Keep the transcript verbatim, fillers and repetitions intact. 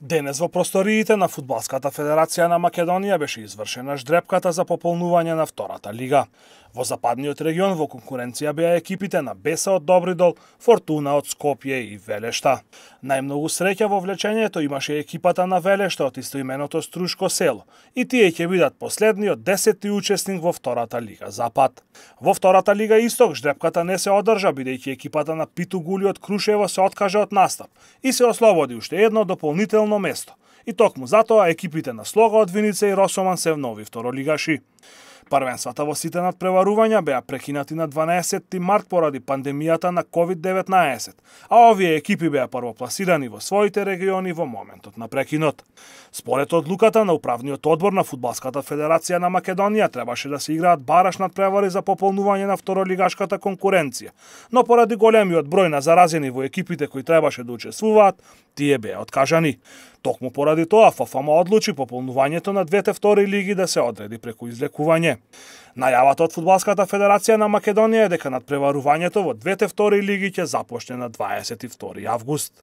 Денес во просториите на Фудбалската федерација на Македонија беше извршена ждрепката за пополнување на втората лига. Во западниот регион во конкуренција беа екипите на Беса од Добридол, Фортуна од Скопје и Велешта. Најмногу среќа во влечењето имаше екипата на Велешта од истоименото Струшко село и тие ќе бидат последниот десети учесник во втората лига Запад. Во втората лига Исток ждрепката не се одржа бидејќи екипата на Питу Гули од Крушево се откажа од настап и се ослободи уште едно дополнително место. И токму затоа екипите на Слога од Виница и Росоман се нови второлигаши. Првенствата во сите надпреварувања беа прекинати на дванаесетти март поради пандемијата на ковид деветнаесет, а овие екипи беа првопласирани во своите региони во моментот на прекинот. Според одлуката на управниот одбор на Фудбалската федерација на Македонија требаше да се играат бараш надпревари за пополнување на второлигашката конкуренција, но поради големиот број на заразени во екипите кои требаше да учествуваат, тие беа откажани. Токму поради тоа ФФМ одлучи пополнувањето на двете втори лиги да се одреди преку излекување. Најавата од Фудбалската федерација на Македонија е дека надпреварувањето во двете втори лиги ќе започне на дваесет и втори август.